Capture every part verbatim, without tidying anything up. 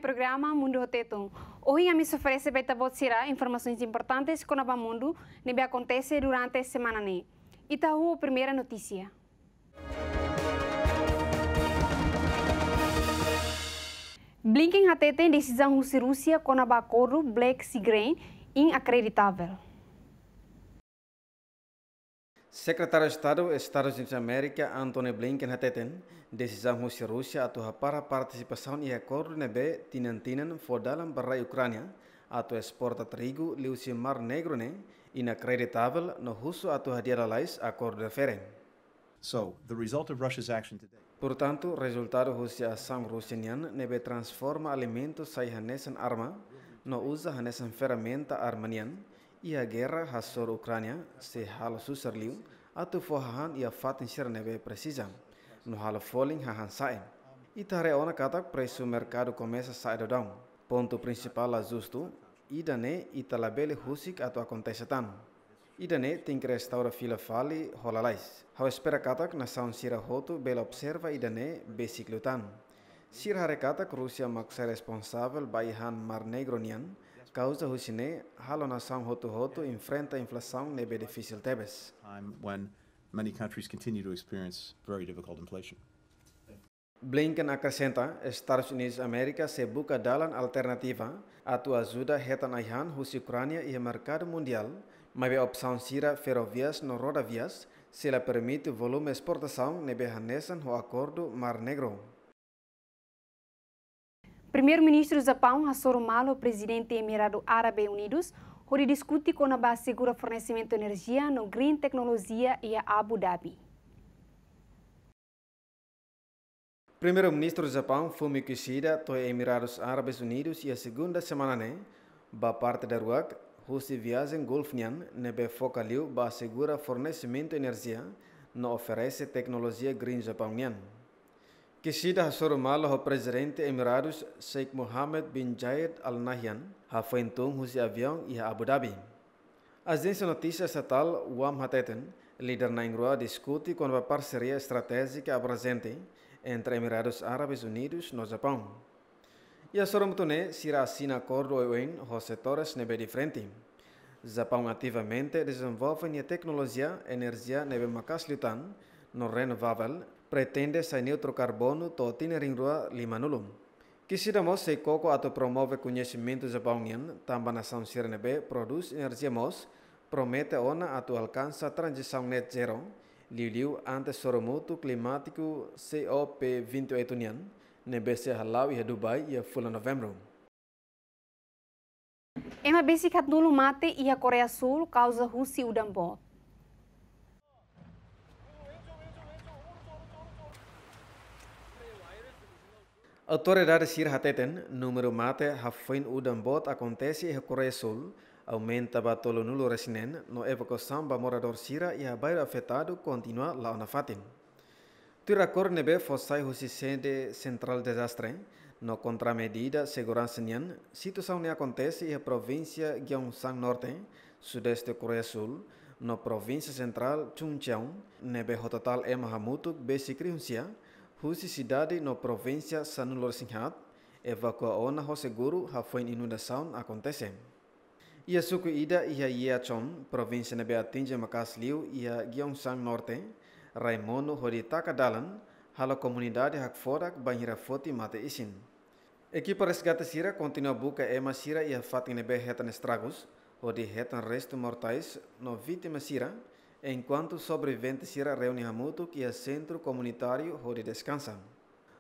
programa Mundu ho Tetun. Ohin ami sei oferese ba ita-boot sira informasaun importante kona-ba mundu ne'ebé akontese durante semana ne'e. Ita ho primeira notísia. Blinken hateten desizaun husi Rúsia kona-ba akordu Black Sea Grain inakreditavel. Sekretáriu Estadu Estadus Unidus Amérika, Antony Blinken hateten, desizaun husi Rúsia atu hapara partisipasaun iha akordu ne'ebé tinan-tinan fó dalan ba rai Ukránia atu esporta trigu liuhusi Mar Negru ne'e inakreditavel no husu atu hadi'a lalais akordu refere. So, the result of Russia's action today. Portantu, rezultadu husi asaun Rúsia nian ne'ebé transforma alimentu sai hanesan arma, no uza hanesan ferramenta arma nian, iha gerra hasoru Ukránia, sei halo susar liu atu fó hahán iha fatin sira ne'ebé presiza, no halo folin hahán sa'e. Ita haree ona katak presu merkadu komesa sa'e daudaun. Pontu prinsipál la justu, ida-ne'e ita labele husik atu akontese tan. Ida-ne'e tenke restaura fila fali ho lalais. Ha'u espera katak nasaun sira hotu bele observa ida-ne'e besik liután. Sira haree katak Rúsia mak sai responsavel ba ai-han Mar Negru nian, kauza husi ne'e halo nasaun hotu-hotu enfrenta inflasaun ne'ebé difisil tebes. Time when many countries continue to experience very difficult inflation. Blinken akresenta, Estadus Unidus Amérika sei buka dalan alternativa atu ajuda hetan ai-han husi Ukránia iha merkadu mundiál, maibé opsaun sira ferrovias no rodovias sei la permite volume esportasaun ne'ebé hanesan ho akordu Mar Negru. Primeiru-Ministru Japaun hasoru malu Prezidente Emiradu Árabe Unidus hodi diskute kona-ba asegura fornesimentu enerjia no green teknolojia iha Abu Dhabi. Primeiru-Ministru Japaun, Fumio Kishida, to'o Emiradus Árabes Unidus iha segunda semana ne'e, ba parte daruak husi viajen Gulf nian ne'ebé foka liu ba asegura fornesimentu enerjia no oferese teknolojia green Japaun nian. Kishida hasoru malu ho Prezidente Emiradus Sheikh Mohammed bin Zayed Al Nahyan, hafoin tun husi aviaun iha Abu Dhabi. Ajénsia notísia estatál WAM hateten, líder na'in-rua diskute kona-ba parseria estratéjika abrajente entre Emiradus Árabes Unidus no Japaun. Iha soru-mutu ne'e, sira asina akordu oioin ho setores ne'ebé diferente. Japaun ativamente dezenvolve nia teknolojia enerjia ne'ebé maka'as liután no renovavel, pretende sai neutru karbonu to'o tinan rihun rua lima-nulu. Kishida mós sei koko atu promove koñesimentu Japaun nian tanba nasaun sira ne'ebé prodús enerjia mós promete ona atu alkansa tranzisaun net zero, liuliu ante soru-mutu klimátiku COP vinte e oito nian, ne'ebé sei hala'o iha Dubai iha fulan Novembru. Ema besik haatnulu mate iha Koreia Súl kauza husi udan boot. Autoridade sira hateten, númeru mate hafoin udan boot akontese iha Koreia Súl aumenta ba tolunulu-resin-neen, no evakuasaun ba moradór sira iha bairru afetadu kontinua la'o nafatin. Tuir akordu ne'ebé fó sai husi sede sentrál dezastre no kontramedida seguransa nian, situasaun ne'e akontese iha provínsia Gyeongsang Norte, sudeste Koreia Súl, no provínsia sentrál Chungcheong, ne'ebé ho totál ema hamutuk besik rihun sia, husi sidade no provínsia sanulu-resin-haat, evakua ona ho seguru hafoin inundasaun akontese. Iha suku ida iha Yeachon, provínsia ne'ebé atinje maka'as liu iha Gyeongsang Norte, rai monu hodi taka dalan, halo komunidade hakfodak bainhira foti mate isin. Ekipa resgate sira kontinua buka ema sira iha fatin ne'ebé hetan estragus, hodi hetan restu mortais no vítima sira, enkuantu sobrevivente sira reúne hamutuk iha sentru komunitáriu hodi deskansa.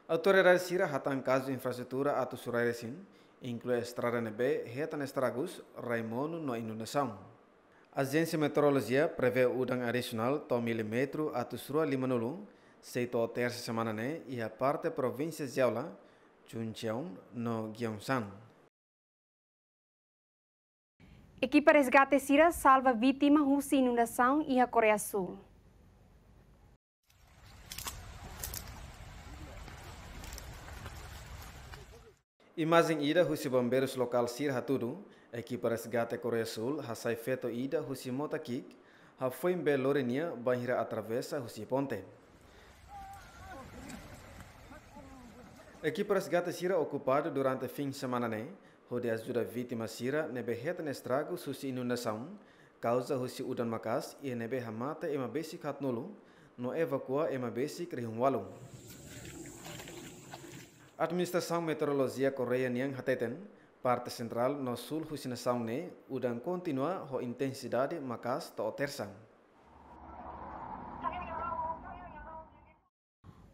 Autoridade sira hatán kazu infraestrutura atu surai resin, inklui estrada ne'ebé hetan estragus, rai monu no inundasaun. Ajénsia meteorolojia prevee udan adisionál to'o milímetru atus rua lima-nulu, sei to'o tersa semana ne'e iha parte provínsia Jeolla, Chungcheong no Gyeongsang. Ekipa resgate sira salva vítima husi inundasaun iha Koreia Súl. Imajen ida husi bombeirus lokál sira hatudu, ekipa resgate Koreia Súl hasai feto ida husi mota ki'ik, hafoin bee lori nia bainhira atravesa husi ponte. Ekipa resgate sira okupadu durante fin semana ne'e hodi ajuda vítima sira ne'ebé hetan estragus husi inundasaun kauza husi udan maka'as, iha ne'ebé hamate ema besik haatnulu no evakua ema besik rihun ualu. Administrasaun Meteorolojia Koreia nian hateten, parte sentrál no súl husi nasaun ne'e udan kontinua ho intensidade maka'as to'o Tersa.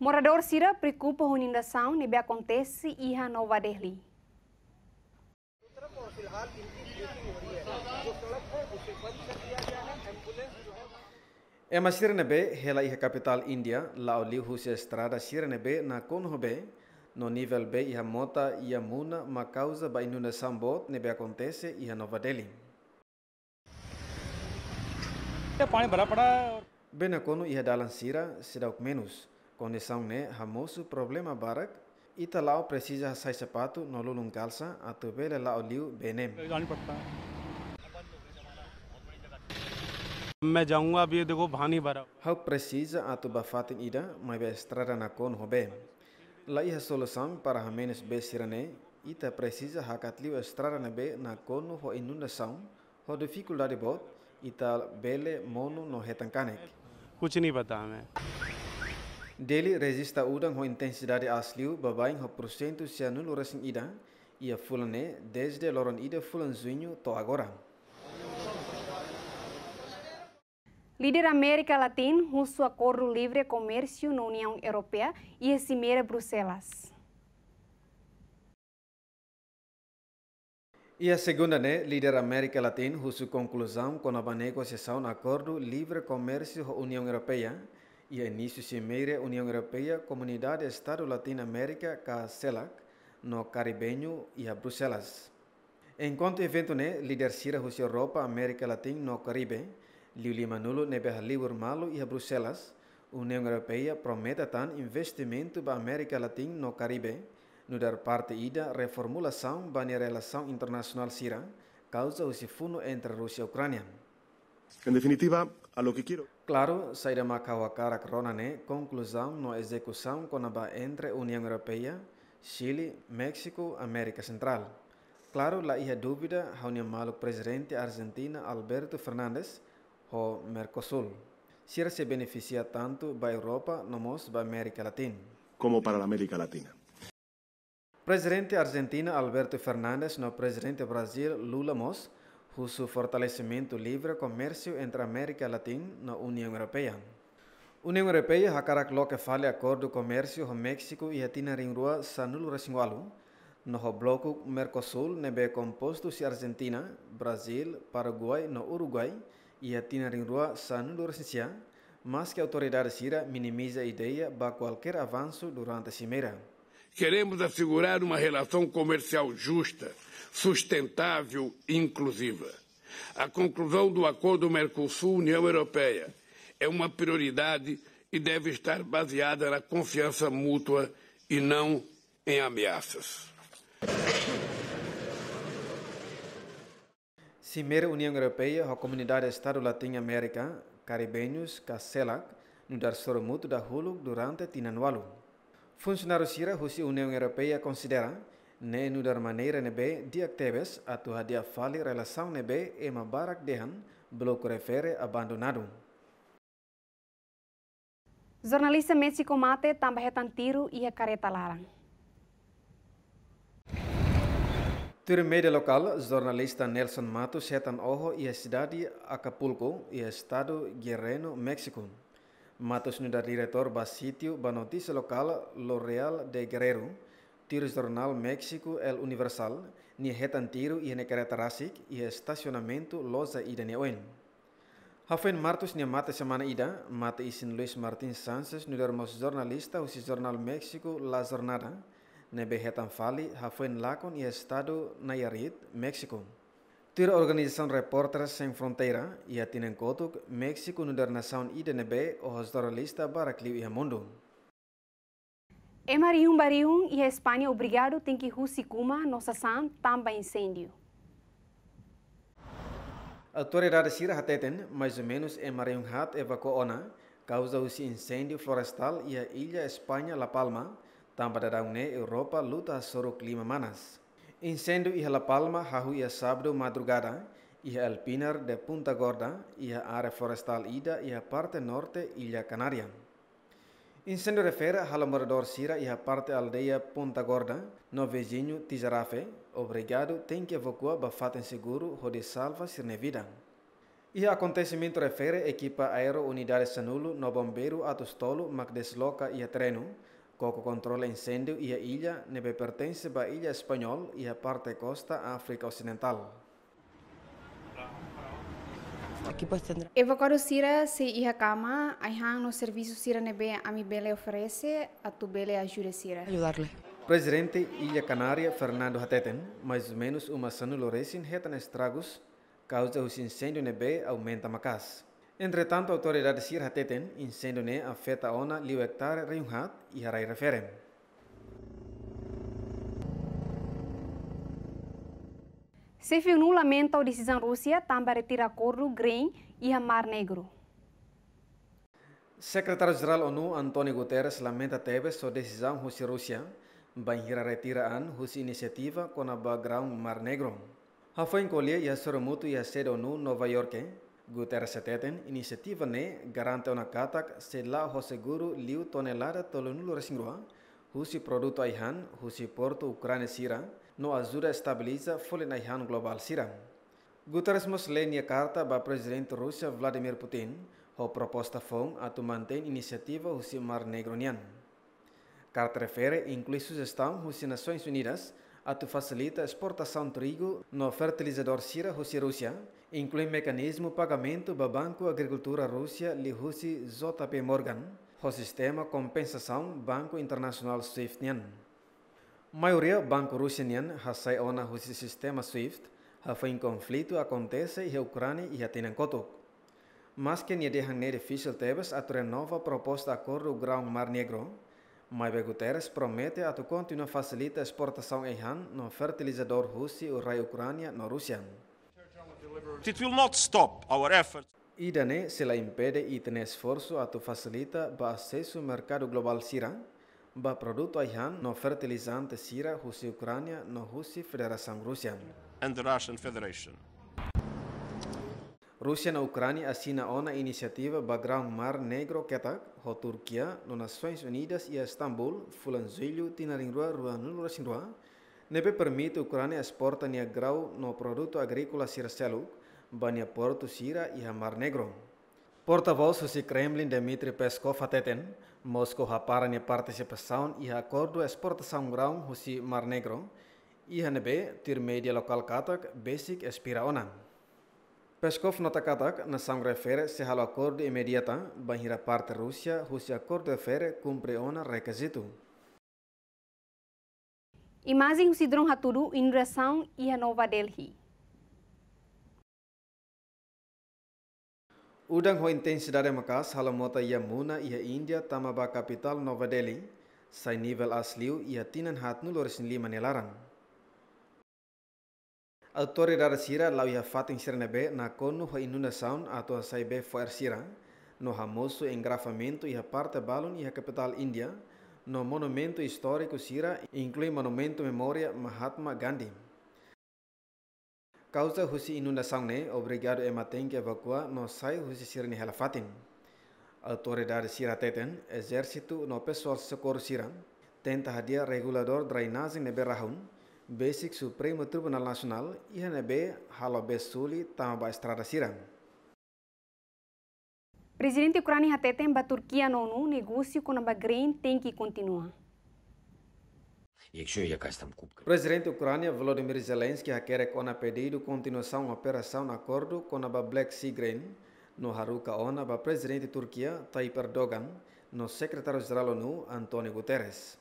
Moradór sira preokupa ho inundasaun ne'ebé akontese iha Nova Delhi. Ema sira ne'ebé hela iha kapitál Índia la'o liu husi estrada sira ne'ebé nakonu ho bee, no nivel bee iha mota Yamuna mak kauza ba inundasaun boot ne'ebé akontese iha Nova Delhi. पानी भरा पड़ा है। Bee nakonu iha dalan sira seidauk menus. Kondisaun ne'e hamosu problema barak. Ita la'o presiza hasai sapatu no lulun kalsa atu bele la'o liu bee ne'e. जानी पड़ता है। मैं जाऊंगा, अभी ये देखो, पानी भरा। Ha'u presiza atu bá fatin ida, maibé estrada nakonu ho bee. La iha solusaun para hamenus bee sira-ne'e, ita presiza hakat liu estrada ne'ebé nakonu ho inundasaun, ho difikuldade boot, ita bele monu no hetan kanek. कुछ नहीं पता हमें। Delhi rejista udan ho intensidade aas liu baibain ho porsentu sianulu-resin-ida iha fulan ne'e, dezde loron ida fulan Juñu to'o agora. Líder Amérika Latina husu akordu livre komérsiu no Uniaun Europeia iha simeira Bruxelas. Iha segunda ne'e, líder Amérika Latina husu konkluzaun kona-ba negosiasaun akordu livre komérsiu ho Uniaun Europeia, iha inísiu simeira Uniaun Europeia, Komunidade Estadu Latin-Amérika ka selac, no Karibeñu iha Bruxelas. Enkuantu eventu ne'e, líder sira husi Europa, Amérika Latina no Karibe, liu limanulu ne'ebé halibur malu iha Bruxelas, Uniaun Europeia promete tan investimentu ba Amérika Latina no Karibe, nu'udar parte ida reformulasaun ba nia relasaun internasionál sira, kauza husi funu entre Rúsia Ukránia. En definitiva, a lo que quiero. Klaru, saida mak ha'u hakarak rona ne'e konkluzaun no ezekusaun kona-ba entre Uniaun Europeia, Xile, Méxiku, Amérika Sentrál. Klaru, la iha dúvida, ha'u-nia maluk Prezidente Arjentina Alberto Fernandes ho Mercosul. Sira sei benefisia tantu ba Europa no mós ba Amérika Latina. Como para la América Latina. Prezidente Arjentina Alberto Fernandes no Prezidente Brazil Lula mós husu fortalesimentu livre komérsiu entre Amérika Latina no Uniaun Europeia. Uniaun Europeia hakarak loke fali akordu komérsiu ho Méxiku iha tinan rihun rua sanulu-resin-ualu, no ho bloku Mercosul ne'ebé kompostu husi Arjentina, Brazil, Paraguai no Uruguai iha tinan rihun rua sanulu-resin-sia, maske autoridade sira minimiza ideia ba kualkér avansu durante simeira. Queremos assegurar uma relação comercial justa, sustentável e inclusiva. A conclusão do acordo Mercosul-União Europeia é uma prioridade e deve estar baseada na confiança mútua e não em ameaças. Simeira Uniaun Europeia ho Komunidade Estadu Latin-Amérika Karibeñus ka selac, nu'udar sorumutu dahuluk durante tinan ualu. Funsionáriu sira husi Uniaun Europeia konsidera ne'e nu'udar maneira ne'ebé di'ak tebes atu hadi'a fali relasaun ne'ebé ema barak dehan bloku refere abandonadu. Jornalista Méxiku mate tanba hetan tiru iha kareta laran. Tuir média lokál, jornalista Nelson Matos hetan oho iha sidade Acapulco, iha estadu Guerrero, Méxiku. Matos nu'udar diretór ba sítiu ba notísia lokál Lo Real de Guerrero, tuir jornál Méxiku El Universal, nia hetan tiru iha nia kareta rasik iha estasionamentu loja ida nia oin. Hafoin Matos nia mate semana ida, mate isin Luis Martín Sánchez nu'udar mós jornalista husi jornál Méxiku La Jornada, ne'ebé hetan fali hafoin lakon iha estadu Nayarit, Méxiku. Tuir organizasaun Repórteres Sem Fronteira, iha tinan kotuk, Méxiku nu'udar nasaun ida ne'ebé oho jornalista barak liu iha mundu. Ema rihun ba rihun iha España obrigadu tenke husik uma no sasán tanba inséndiu. Autoridade sira hateten, mais ou menus ema rihun haat evakua ona, kauza husi inséndiu florestál iha illa España La Palma, Tanba daudaun ne'e Europa luta hasoru klima manas. Inséndiu iha La Palma hahú iha sábadu madrugada, iha El Pinar de Punta Gorda, iha área florestál ida iha parte norte Illa Kanária. Inséndiu refere halo moradór sira iha parte aldeia Punta Gorda, no viziñu Tijarafe, obrigadu tenke evakua ba fatin seguru hodi salva sira-nia vida. Iha akontesimentu refere ekipa aéreu unidade sanulu no bombeiru atus tolu mak desloka iha terrenu, koko kontrola inséndiu iha illa ne'ebé pertense ba illa Español iha parte kosta Áfrika Osidentál. Evakuadu sira sei iha kama, ai-han no servisu sira ne'ebé ami bele oferese atu bele ajuda sira. Prezidente Illa Kanária Fernando hateten, mais ou menus uma sanulu resin hetan estragus kauza husi inséndiu ne'ebé aumenta maka'as. Entretantu, autoridade sira hateten, inséndiu ne'e afeta ona liu ektare rihun haat iha rai refere. Xefe ONU lamenta ho desizaun Rúsia tanba retira akordu grain iha Mar Negru. Sekretáriu-Jerál ONU António Guterres lamenta tebes ho desizaun husi Rúsia bainhira retira an husi inisiativa kona-ba graun Mar Negru. Hafoin ko'alia iha sorumutu iha sede ONU Nova Iorke, Guterres hateten inisiativa ne'e garante ona katak sei la'o ho seguru liu tonelada tolunulu resin rua husi produtu ai-han husi portu Ukránia sira, no ajuda estabiliza folin ai-han globál sira. Guterres mós lee nia karta ba Prezidente Rúsia Vladimir Putin, ho proposta foun atu mantein inisiativa husi Mar Negru nian. Karta refere inklui sujestaun husi Nasoins Unidas atu fasilita esportasaun trigu no fertilizadór sira husi Rúsia, inklui mekanizmu pagamentu ba Banku Agrikultura Rúsia liuhusi J P Morgan, ho sistema kompensasaun Banku Internasionál SWIFT nian. Maioria banku Rúsia nian hasai ona husi sistema SWIFT, hafoin konflitu akontese iha Ukránia iha tinan kotuk. Maske nia dehan ne'e difisil tebes atu renova proposta akordu graun Mar Negru, maibé Guterres promete atu kontinua fasilita esportasaun ai-han no fertilizadór husi rai Ukránia no Rúsia. It will not stop our efforts. Ida-ne'e sei la impede ita-nia esforsu atu fasilita ba asesu merkadu globál sira ba produtu ai-han no fertilizante sira husi Ukránia no husi Federasaun Rúsia. And the Russian Federation. Rúsia no Ukránia asina ona inisiativa ba graun Mar Negru ketak ho Turkia no Nasoins Unidas iha Estambul, fulan Jullu, tinan rihun rua ruanulu resin rua, ne'ebé permite Ukránia esporta nia graun no produtu agríkola sira seluk ba nia portu sira iha Mar Negru. Portavós husi Kremlin Dmitry Peskov hateten, Moskou hapara nia partisipasaun iha akordu esportasaun graun husi Mar Negru, iha ne'ebé tuir média lokál katak besik espera ona. Peskov nota katak nasaun refere sei halo akordu imediata bainhira parte Rúsia husi akordu refere kumpre ona rekizitu. Imajen husi drone hatudu inundasaun iha Nova Delhi. Udan ho intensidade maka'as halo mota Yamuna iha Índia tama ba kapitál Nova Delhi, sai nivel aas liu iha tinan haatnulu resin lima nia laran. Autoridade sira la'o iha fatin sira ne'ebé nakonu ho inundasaun atu hasai bee fo'er sira, no hamosu engarrafamentu iha parte balun iha kapitál Índia, no monumentu istóriku sira, inklui monumentu memória Mahatma Gandhi. Kauza husi inundasaun ne'e obrigadu ema tenke evakua no sai husi sira-nia hela fatin. Autoridade sira hateten, ezérsitu no pesoál sokorru sira tenta hadi'a reguladór drenajen ne'ebé rahun, besik Supremu Tribunál Nasionál iha ne'ebé halo bee suli tama ba estrada sira. Prezidente Ukránia hateten ba Turkia no ONU negósiu kona-ba grain tenke kontinua. Якщо якась там кубка. Prezidente Ukránia Volodymyr Zelensky hakerek ona pedidu kontinuasaun operasaun akordu kona-ba Black Sea Grain, no haruka ona ba Prezidente Turkia Tayyip Erdogan no Sekretáriu-Jerál ONU António Guterres.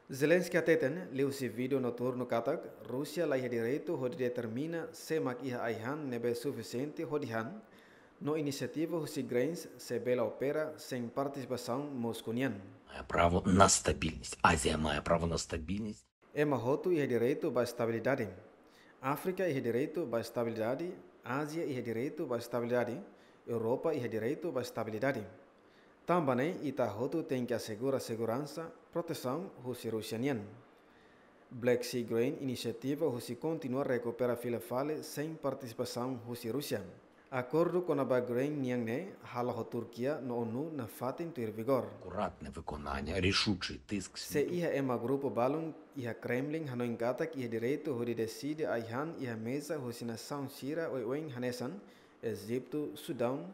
Zelensky hateten liuhusi vídeo noturnu katak Rúsia la iha direitu hodi determina sé mak iha ai-han ne'ebé sufisiente hodi han, no inisiativa husi grains sei bele opera sein partisipasaun Moskou nian. Має право на стабільність. Азія має право на стабільність. Ema hotu iha direitu ba estabilidade. Áfrika iha direitu ba estabilidade. Ázia iha direitu ba estabilidade. Europa iha direitu ba estabilidade. Tanba ne'e ita hotu tenke asegura seguransa, protesaun husi Rúsia nian. Black Sea Grain inisiativa husi kontinua rekupera fila fali sein partisipasaun husi Rúsia. Akordu kona-ba grain nian ne'e halo ho Turkia no ONU nafatin tuir vigor. Акуратне виконання, рішучий тиск. Se iha ema grupu balun iha Kremlin hanoin katak iha direitu hodi deside ai-han iha meza husi nasaun sira oioin hanesan Ejitu, Sudaun,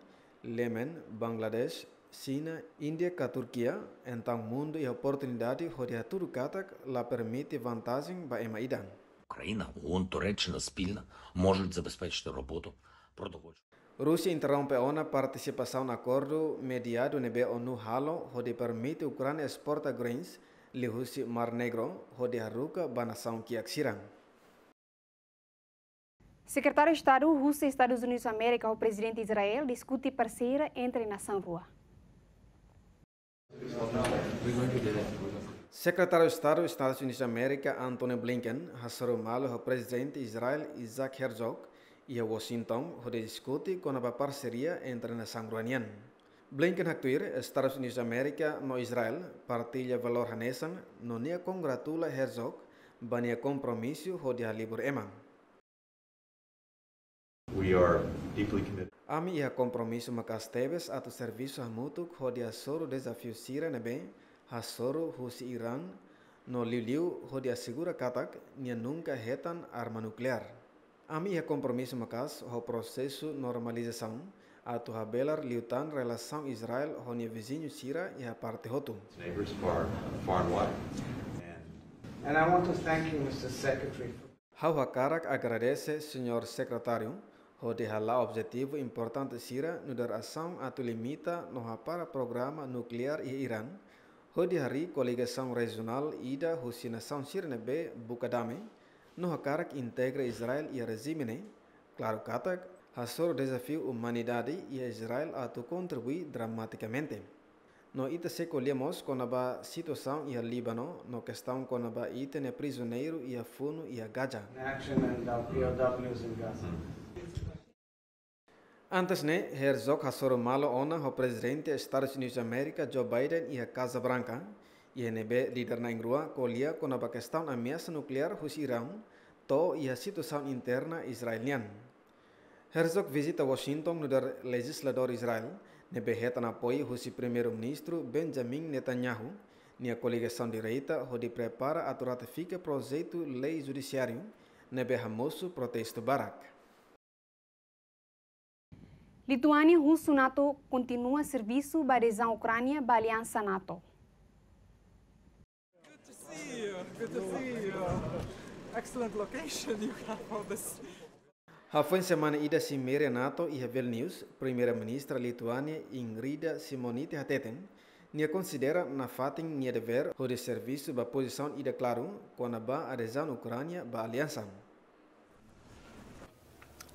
Yemen, Bangladesh, Xina, Índia ka Turkia, entaun mundu iha oportunidade hodi hatudu katak la permite vantajen ba ema ida. Україна, ООН, Туреччина спільно можуть забезпечити роботу продовольчого. Rúsia interrompe ona partisipasaun akordu mediadu ne'ebé ONU halo hodi permite Ukránia esporta grains liuhusi Mar Negro hodi haruka ba nasaun kiak sira. Sekretáriu Estadu husi Estadus Unidus Amérika ho Prezidente Israel diskute parseria entre nasaun rua. Sekretáriu Estadu Estadus Unidus Amérika, Antony Blinken, hasoru malu ho Prezidente Israel Isaac Herzog iha Washington hodi diskute kona-ba parseria entre nasaun rua nian. Blinken haktuir, Estadus Unidus Amérika no Israel partilla valór hanesan no nia kongratula Herzog ba nia kompromisu hodi halibur ema. We are deeply committed. Ami iha kompromisu maka'as tebes atu servisu hamutuk hodi hasoru dezafiu sira ne'ebé hasoru husi Irán no liuliu hodi asegura katak nia nunka hetan arma nukleár. Ami iha kompromisu maka'as ho prosesu normalizasaun atu habelar liután relasaun Israel ho nia viziñu sira iha parte hotu. Neighbors far, far and wide. And I want to thank you, Mister Secretary, for Ha'u hakarak agradese Señór Sekretáriu hodi hala'o objetivu importante sira nu'udar asaun atu limita no hapara programa nukleár iha Irán, hodi harii koligasaun rejionál ida husi nasaun sira ne'ebé buka dame, no hakarak integra Israel iha rejime ne'e, klaru katak, hasoru dezafiu umanidade iha Israel atu kontribui dramatikamente. No ita sei ko'alia mós kona-ba situasaun iha Líbanu, no kestaun kona-ba ita-nia prizioneiru iha funu iha Gaza. Action and our P O Ws in Gaza. Antes ne'e, Herzog hasoru malu ona ho Prezidente Estadus Unidus Amérika, Joe Biden, iha Kaza Branka, iha ne'ebé líder na'in-rua ko'alia kona-ba kestaun ameasa nukleár husi Irán, to'o iha situasaun interna Israel nian. Herzog vizita Washington nu'udar lejizladór Israel, ne'ebé hetan apoiu husi Primeiru-Ministru Benjamin Netanyahu, nia koligasaun direita hodi prepara atu ratifika projetu lei judisiáriu, ne'ebé hamosu protestu barak. Lituánia husu NATO kontinua servisu ba adezaun Ukránia ba aliansa NATO. Good to see you. Good to see you. Excellent location you have for this. Hafoin semana ida simeira NATO iha Vilnius, Primeira-Ministra Lituánia Ingrida Šimonytė hateten, nia konsidera nafatin nia devér hodi servisu ba pozisaun ida klaru kona-ba adezaun Ukránia ba aliansa.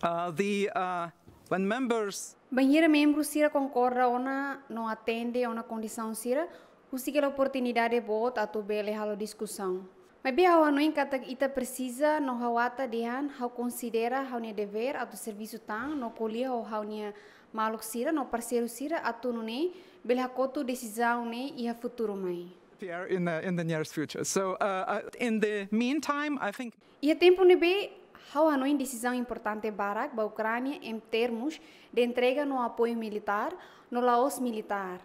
Uh, the, uh, when members Bainhira membru sira konkorda ona no atende ona kondisaun sira, husik hela oportunidade boot atu bele halo diskusaun. Maibé ha'u hanoin katak ita presiza no ha'u ata dehan ha'u konsidera ha'u-nia devér atu servisu tan no ko'alia ho ha'u-nia maluk sira no parseiru sira atu nune'e bele hakotu desizaun ne'e iha futuru mai. Here in the, in the nearest future. So, uh, uh, in the meantime, I think Iha tempu ne'ebé ha'u hanoin desizaun importante barak ba Ukránia em termos de entrega no apoiu militár, no la'ós militár.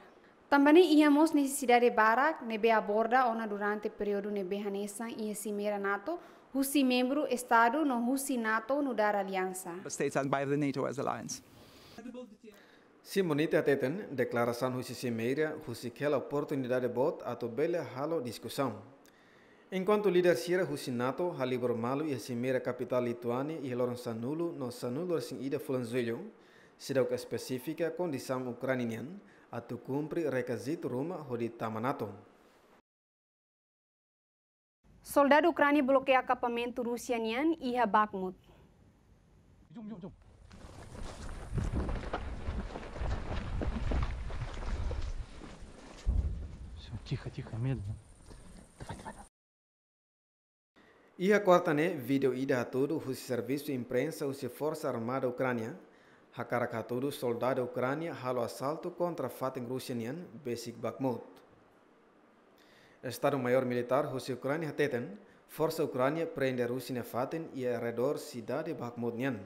Tanba ne'e iha mós nesesidade barak ne'ebé aborda ona durante períodu ne'ebé hanesan iha simeira NATO, husi membru Estadu no husi NATO nu'udar aliansa. States and by the NATO as alliance. Šimonytė hateten, deklarasaun husi simeira husik hela oportunidade boot atu bele halo diskusaun. Enkuantu líder sira husi NATO halibur malu iha simeira kapitál Lituánia iha loron sanulu no sanulu-resin-ida fulan Jullu, seidauk espesifika kondisaun Ukránia nian atu kumpre rekizitu ruma hodi tama NATO. Soldadu Ukránia blokeia akampamentu Rúsia nian iha Bakhmut. Jom, jom, jom. Всё, тихо, тихо, медленно. Давай, давай, давай. Iha kuarta ne'e, vídeo ida hatudu husi servisu imprensa husi Forsa Armada Ukránia, Hakarak hatudu soldadu Ukránia halo asaltu kontra fatin Rúsia nian besik Bakhmut. Estadu-Maiór Militár husi Ukránia hateten, forsa Ukránia prende Rúsia nia fatin iha arredór sidade Bakhmut nian.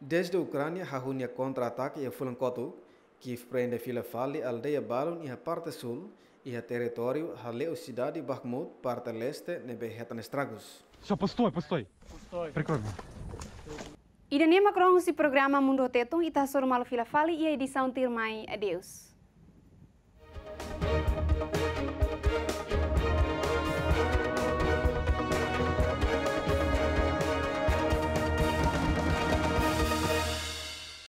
Dezde Ukránia hahú nia kontra-atake iha fulan kotuk, Kiev prende fila fali aldeia balun iha parte súl, iha territóriu hale'u sidade Bakhmut, parte leste, ne'ebé hetan estragus. Всё, пустой, пустой. Прикрой меня. Ida-ne'e mak rona husi programa Mundu ho Tetun, ita hasoru malu fila fali iha edisaun tuirmai. Adeus.